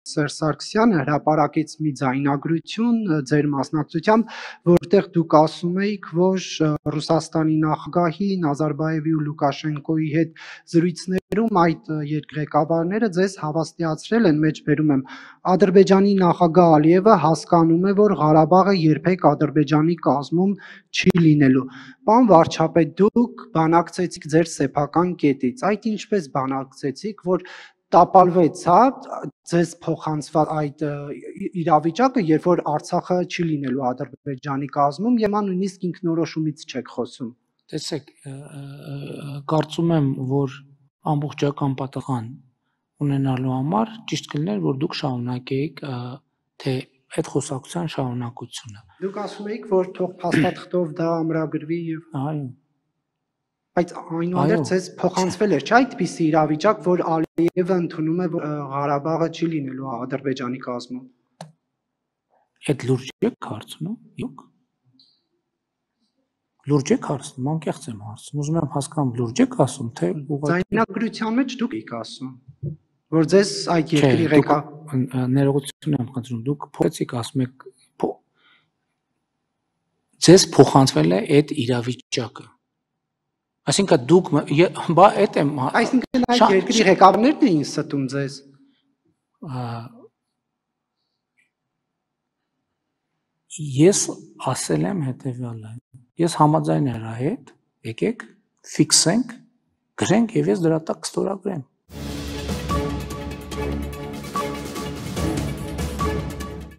Սերժ Սարգսյանը հրապարակեց մի ձայնագրություն ձեր մասնակցությամբ, որտեղ դուք ասում էիք, որ Ռուսաստանի նախագահի Նազարբաևի ու Լուկաշենկոյի հետ զրույցներում այդ երկրի ղեկավարները ձեզ հավաստիացրել են, մեջբերում եմ, Ադրբեջանի նախագահ Ալիևը հասկանում է, որ Ղարաբաղը երբեք Ադրբեջանի կազմում չի լինելու։ Պարոն վարչապետ, դուք բանակցեցիք ձեր սեփական կետից, այդ ինչպես բանակցեցիք, որ տապալվեց, հա, ձեզ փոխանցված այդ իրավիճակը, երբ որ Արցախը չի լինելու Ադրբեջանի կազմում, եւ նույնիսկ ինքնորոշումից չեք խոսում։ Տեսեք, կարծում եմ, որ ամբողջական պատասխան ունենալու համար ճիշտ կլիներ, որ դուք շարունակեիք թե այդ խոսակցության շարունակությունը։ Դուք ասում եք, որ թող փաստաթղթով դա ամրագրվի եւ այո։ Բայց այնուհանդերձ ձեզ փոխանցվել էր, չէ՞, այդպիսի իրավիճակ, որ Ալիևը ընդունում է, որ Ղարաբաղը չի լինելու Ադրբեջանի կազմում։ Այդ լուրջ եք հարցնում, իուք։ Լուրջ եք հարցնում, անկեղծ եմ հարցնում, ուզում եմ հասկանամ, լուրջ եք ասում, թե ուղղակի ձայնագրության մեջ դուք եք ասում, որ ձեզ այդ երկրի ներողություն եմ խնդրում, դուք փոխեցիք, ասում եք ձեզ փոխանցվել է այդ իրավիճակը։ Այսինքն դուք բա այդ եմ Այսինքն այդ երկրի ղեկավարներն էին ստում ձեզ։ Ես ասել եմ հետևյալը։ Ես համաձայն եմ նրա հետ, եկեք ֆիքսենք, գրենք եւ ես դրա տակ կստորագրեմ։